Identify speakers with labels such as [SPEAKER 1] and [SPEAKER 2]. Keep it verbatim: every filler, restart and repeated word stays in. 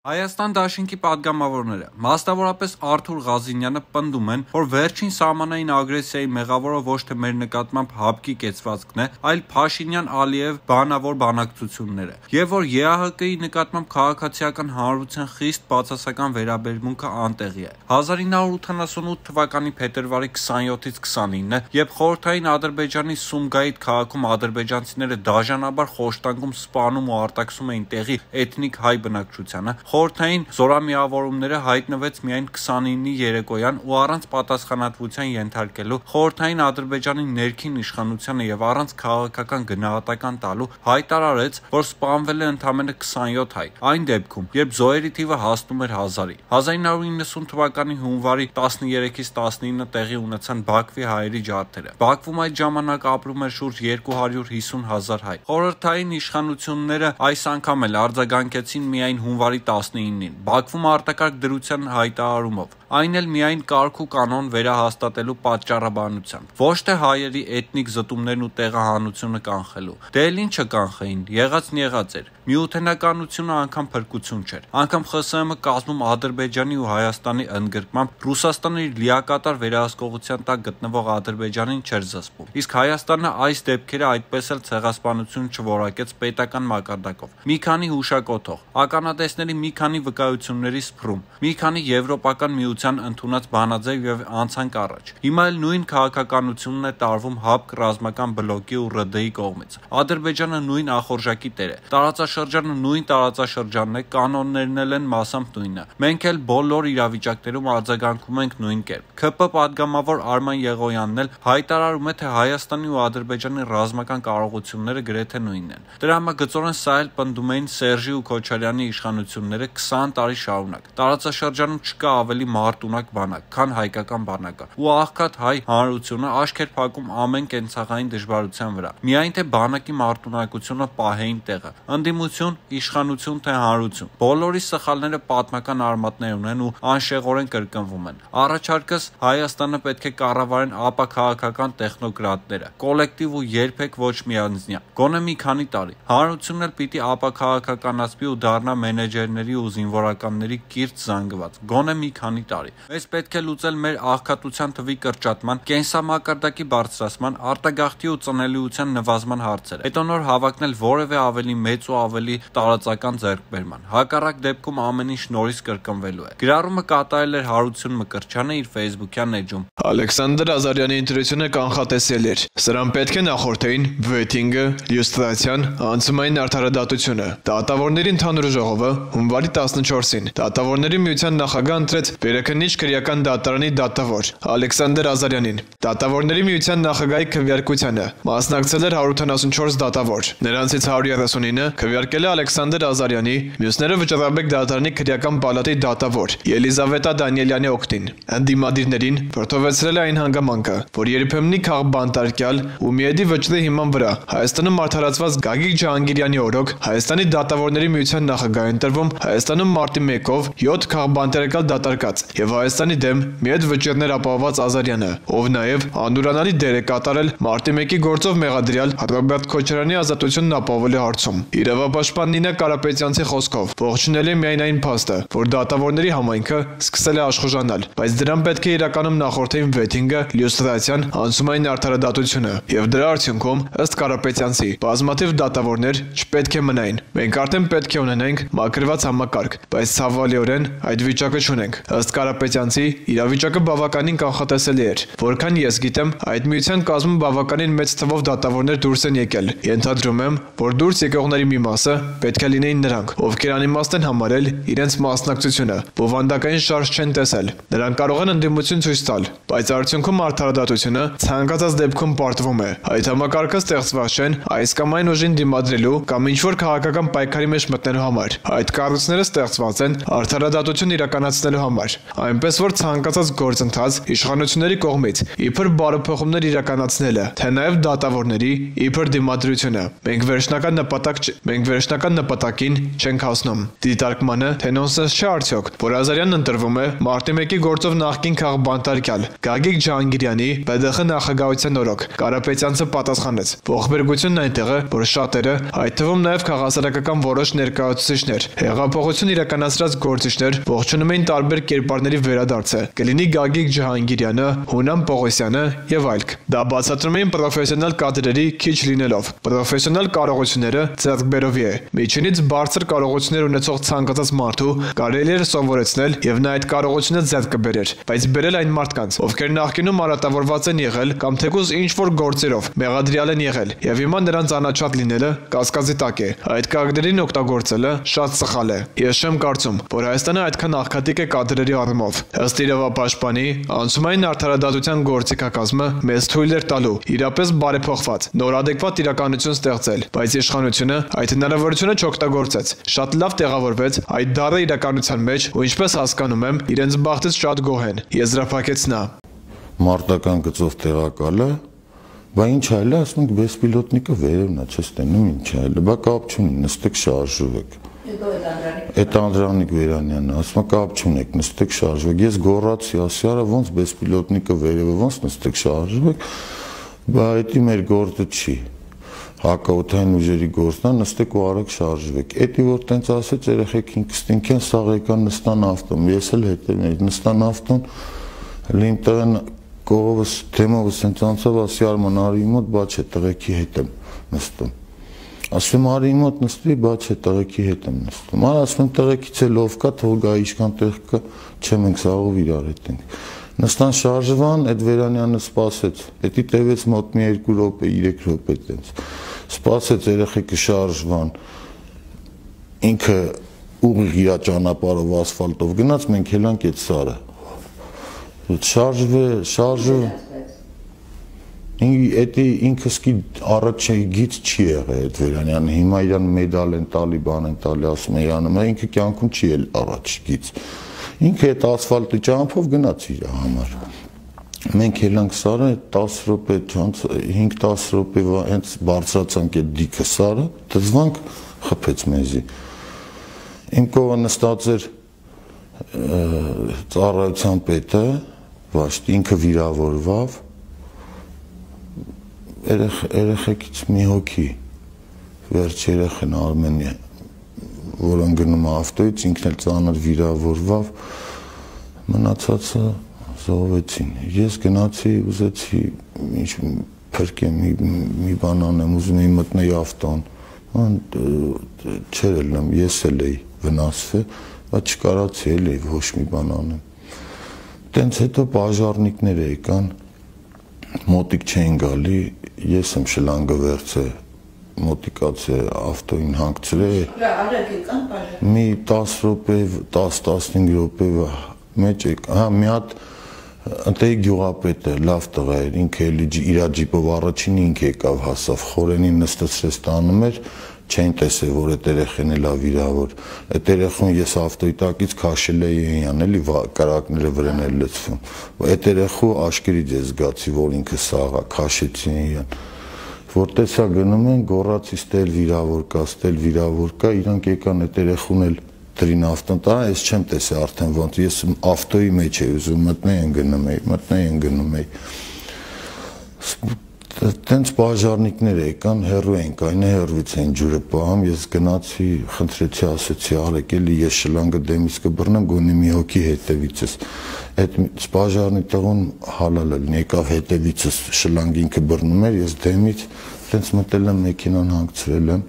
[SPEAKER 1] Հայաստան դաշինքի պատգամավորները, մասնավորապես Արթուր Ղազինյանը պնդում են, որ վերջին սահմանային ագրեսիայի մեղավորը ոչ թե մեր նկատմամբ հապկի կեցվածքն է, այլ Փաշինյան-Ալիև բանավոր բանակցությունները, եւ որ ԵԱՀԿ-ի նկատմամբ քաղաքացիական հանրության խիստ բացասական վերաբերմունքը անտեղի է։ հազար ինը հարյուր ութանասունութ թվականի փետրվարի քսաներկուից քսանինը, երբ խորհրդային Ադրբեջանի Սումգայիթ քաղաքում ադրբեջանցիները դաժանաբար խոշտանգում, սպանում ու արտաքսում էին տեղի էթնիկ հայ բնակչությանը, խորհրդային զորամիավորումները հայտնվեց միայն քսանինի երեկոյան ու առանց պատասխանատվության ենթարկելու խորհրդային Ադրբեջանի ներքին իշխանությանը եւ առանց քաղաքական գնահատական տալու հայտարարեց, որ սպանվել է ընդամենը քսանյոթ հայ, այն դեպքում, երբ զոհերի թիվը հասնում էր հազարի։ հազար ինը հարյուր իննսուն թվականի հունվարի տասներեքից տասնինը տեղի ունեցան Բաքվի հայերի ջարդերը։ Բաքվում այդ ժամանակ ապրում էր շուրջ երկու հարյուր հիսուն հազար հայ։ Խորհրդային իշխանությունները այս անգամ էլ արձագանքեցին միայն հունվարի տասնինին, Բաքվում արտակարգ դրության հայտարարումով, այն էլ միայն կարգ ու կանոն վերահաստատելու պատճառաբանությամբ, ոչ թե հայերի էթնիկ զտումներն ու տեղահանությունը կանխելու։ Դե էլ ինչը կանխեին, եղածն եղած էր։ Միութենականությունը անգամ փրկություն չէր։ Անգամ ԽՍՀՄ կազմում Ադրբեջանի ու Հայաստանի ընդգրկմամբ Ռուսաստանը իր լիակատար վերահսկողության տակ գտնվող Ադրբեջանին չէր զսպում։ Իսկ Հայաստանը այս դեպքերը այդպես էլ ցեղասպանություն չորակեց պետական մակարդակով։ Մի քանի հուշակոթող, ականատեսների մի քանի վկայությունների սփռում, մի քանի եվրոպական միության ընդունած բանաձև եւ անցանք առաջ։ Հիմա էլ նույն քաղաքականությունն է տարվում ՀԱՊԿ ռազմական բլոկի ու ՌԴ-ի կողմից։ Ադրբեջանը նույն ախորժակի տեր է։ Տարածաշրջանը նույն տարածաշրջանն է, կանոններն էլ են մասամբ նույնը։ Մենք էլ բոլոր իրավիճակներում արձագանքում ենք նույն կերպ։ ՔՊ պատգամավոր Արման Եղոյանն էլ հայտարարում է, թե Հայաստանի ու Ադրբեջանի ռազմական կարողությունները գրեթե նույնն են։ Դրա համագծորեն սա էլ պնդում էին Սերժի ու Քոչարյանի իշխանությունները քսան տարի շարունակ։ Տարածաշրջանում չկա ավելի մարտունակ բանակ, քան հայկական բանակը։ Ու աղքատ հայ հանրությունը աշք էր փակում ամեն կենցաղային դժվարության վրա։ Միայն թե բանակի մարտունակությունը պահեին տեղը։ Ընդդիմություն, իշխանություն թե հանրություն։ Բոլորի սխալները պատմական արմատներ ունեն ու անշեղորեն կրկնվում են։ Առաջարկս Հայաստանը պետք է կառավարեն ապաքաղաքական տեխնոկրատները, կոլեկտիվ ու երբեք ոչ միանձնյա։ Գոնե մի քանի տարի։ Հանրությունն էլ պիտի ապաքաղաքականացվի ու դառնա մենեջերների ու զինվորականների կիրթ զանգված։ Գոնե մի քանի տարի։ Մեզ պետք է լուծել մեր աղքատության թվի կրճատման, կենսամակարդակի բարձրացման, արտագաղթի ու ծնելիության նվազման հարցերը։ Հետո նոր հավակնել որևէ ավելի մեծ ու ավելի տարածական ձեռքբերման։ Հակառակ դեպքում ամեն ինչ նորից կրկնվելու է։ Գրառումը կատարել էր Հարություն Մկրտչյանը իր Facebook-յան էջում։
[SPEAKER 2] Ալեքսանդր Ազարյանի ընտրությունը կանխատեսել էր։ Սրան պետք է նախորդեին վեթինգը, լյուստրացիան, անցումային արդարադատությունը։ Դատավորների ընդհանուր ժողովը հունվարի տասնչորսին Դատավորների միության նախագահ ընտրեց Վերաքննիչ քրեական դատարանի դատավոր Ալեքսանդր Ազարյանին։ Դատավորների միության նախագահի քվեարկությանը մասնակցել էր հարյուր ութանասունչորս դատավոր։ Նրանցից հարյուր երեսունինը քվեարկել է Ալեքսանդր Ազարյանի, մյուսները Վճռաբեկ դատարանի քրեական պալատի դատավոր Ելիզավետա Դանիելյանի օգտին։ Ընդդիմադիրներին վրդովեցրել է այն հանգամանքը, որ երբեմնի քաղբանտարկյալ ու միեդի վճռի հիման վրա Հայաստանում արդարացված Գագիկ Ջահանգիրյանի օրոք Հայաստանի դատավորների միության նախագահ ընտրվում Հայաստանում մարտի մեկով յոթ քաղբանտարկյալ դատարկած եւ Հայաստանի դեմ միեդ վճռներ ապահոված Ազարյանը, ով նաեւ անդուրանալի դեր է կատարել մարտի մեկի գործով մեղադրյալ Ռոբերտ Քոչարյանի ազատությունն ապահովելու հարցում։ Իրավապաշտպան Նինա Կարապետյանցի խոսքով ողջունել է միայն այն փաստը, որ դատավորների համայնքը սկսել է աշխուժանալ, բայց դրան պետք է իրականում նախորդեին վեթինգը, լյուստրացիան, անցումային արդարադատությունը եւ դրա արդյունքում ըստ Կարապետյանցի բազմաթիվ դատավորներ չպետք է մնային։ Մենք արդեն պետք է ունենենք մակրված համակարգ, բայց ցավալիորեն այդ վիճակը չունենք։ Ըստ Կարապետյանցի իրավիճակը բավականին կանխատեսելի էր, որքան ես գիտեմ, այդ միության կազմում բավականին մեծ թվով դատավորներ դուրս են եկել։ Ենթադրում եմ, որ դուրս եկողների մի մասը պետք է լինեին նրանք, ովքեր անիմաստ են համարել իրենց մասնակցությունը, բովանդակային շարժ չեն տեսել։ Նրանք կարող են ընդդիմություն ցույց տալ, բայց արդյունքում արդարադատությունը ցանկացած դեպքում պարտվում է։ Այդ համակարգը ստեղծված չեն այս կամ այն ուժին դիմադրելու կամ ինչ-որ քաղաքական պայքարի մեջ մտնելու համար։ Այդ կառույցները ստեղծված են արդարադատություն իրականացնելու համար։ այնպես որ ցանկացած գործընթաց իշխանությունների կողմից իբր բարեփոխումներ իրականացնելը, թե նաև դատավորների իբր դիմադրությունը։ Մենք վերջնական նպատակ մենք վերջնական նպատակին չենք հասնում։ Դիտարկմանը, թե նոնսենս չէ արդյոք, որ Ազարյանն ընտրվում է մարտի մեկի գործով նախկին քաղբանտարկյալ Գագիկ Ջահանգիրյանի Բ ԴԽ նախագահության օրոք։ Կարապետյանցը պատասխանեց. ողբերգությունն այնտեղ է, որ շատերը, այդ թվում նաև քաղաքասարական որոշ ներկայացուցիչներ, հեղափոխություն իրականացրած գործիչներ ողջունում էին տարբեր կերպարների վերադարձը, կլինի Գագիկ Ջահանգիրյանը, Հունան Պողոսյանը եւ այլք։ Դա բացատրում էին պրոֆեսիոնալ կադրերի քիչ լինելով։ Պրոֆեսիոնալ կարողությունները ձեռքբերովի է։ Միջինից բարձր կարողություններ ունեցող ցանկացած մարդու կարելի է սովորեցնել եւ նա այդ կարողությունը ձեռք կբերեր, բայց բերել այն մարդկանց, ովքեր նախկինում արատավորված են եղել կամ թեկուզ ինչ-որ գործերով մեղադրյալ են եղել եւ հիմա նրանց անաչափ լինելը կասկածի տակ է։ Այդ կադրերին օգտագործելը շատ սխալ է։ Ես չեմ կարծում, որ Հայաստանը այդքան աղքատիկ է կադրերի առումով։ Ըստ իրավապաշտպանի, անցումային արդարադատության գործիքակազմը մեզ թույլ էր տալու իրապես բարեփոխված, նոր adekvat իրականություն ստեղծել, բայց իշխանությունը այդ հնարավորությունը չօգտագործեց։ Շատ լավ տեղավորվեց այդ դառը իրականության մեջ, ու ինչպես հասկանում եմ, իրենց բախտից շատ գոհ են։ Եզրափակեց նա։
[SPEAKER 3] Մարտական գծով տեղակալը, բա ինչ այլ է, ասում ենք բեսպիլոտնիկը վերևն է, չես տենում ինչ այլ է, բա կապ չունի, նստեք շարժվեք։ Այդ Անդրանիկ Վերանյանն ասում է կապ չունեք, նստեք շարժվեք։ Ես գոռացի, ասի արա ոնց բեսպիլոտնիկը վերևը ոնց նստեք շարժվեք, բա դա մեր գործը չի։ Հակաօդային ուժերի գործն է, նստեք ու արեք շարժվեք։ Էդի որ տենց ասեց, երեխեք ինքստինք են սաղ եկան նստան ավտոն, ես էլ հետևում էի, նստան ավտոն, լին տղեն կողովս թեմովս հենց անցավ, ասի Արման արի մոտ, բա չէ տղեկի հետ եմ նստում։ Ասում արի մոտ նստի, բա չէ տղեկի հետ եմ նստում։ Արա ասում տղեկից էլ ով կա, թող գա ինչքան տեղ կա, չէ մենք սաղով իրար հետ ենք։ Նստան շարժվան, այդ Վերանյանը սպասեց, էդի տևեց մոտ մի երկու րոպե, երեք րոպե տենց։ Սպասեց երեխեքը շարժվան, ինքը ուղիղ իր ճանապարհով ասֆալտով գնաց, մենք ելանք այդ սարը։ Շարժվե, շարժվե։ Էդի ինքս კი առաջ գից չի եղել այդ Վերանյանը, հիմա իրան մեդալ են տալի, բան են տալի, ասում է իրանը, ինքը կյանքում չի էլ առաջ գից։ Ինքը այդ ասֆալտի ճամփով գնաց իր համար։ Մենք ելանք սարը տասը րոպե, հինգ տասը րոպե հենց բարձրացանք այդ դիքը սարը, դզվանք խփեց մեզի։ Իմ կողը նստած էր ծառայության պետը, Վաշտ, ինքը վիրավորվավ, երեխեքից մի հոգի, վերջ երեխեն Արմենի, որ ընկնում ավտոյից, ինքն էլ ծանր վիրավորվավ, մնացածը զոհվեցին։ Ես գնացի, ուզեցի ինչ փրկեմ, մի բան անեմ, ուզում էի մտնել ավտոն, չէր ելնեմ, ես էլ էի վնասվել, բայց չկարացի էլ էի ոչ մի բան անեմ։ Տենց հետո պաժարնիկներ եկան, մոտիկ չեն գալի, ես եմ շլանգը վերցել, մոտիկաց է ավտոին հանգցրել, մի տասը րոպե, տասը-տասնհինգ րոպե մեջ եք, հա մի հատ ընտեի գյուղապետը լավ տղա էր, ինքը էլի իր ջիպով առաջին ինքը եկավ հասավ, խորենին նստեցրեց տանում էր, չեն տեսել, որ այդ երեխեն էլ վիրավոր, այդ երեխուն ես ավտոյի տակից քաշել էի իրան, էլի կարակները վրան էլ լցվում, այդ երեխու աշկերից ես զգացի, որ ինքը սաղ է, քաշեցի իրան, որ տեսա գնում են, գոռացի ստել վիրավոր կա, ստել վիրավոր կա, իրանք եկան այդ երեխուն էլ դրին ավտոն տարան, ես չեմ տեսել արդեն ոնց, ես ավտոյի մեջ էի ուզում մտնեի ընկնում էի, մտնեի ընկնում էի։ Տենց բաժարնիկներ եկան, հեռու ենք, այն է հեռվից են ջուրը պահում, ես գնացի, խնդրեցի, ասեցի, արեք էլի ես շլանգը դեմից կբռնեմ, գոնե մի հոգի հետևիցս։ Այդ բաժարնի տղուն հալալ էլ եկավ հետևիցս շլանգ ինքը բռնում էր, ես դեմից տենց մտել եմ մեքենան հանգցրել եմ։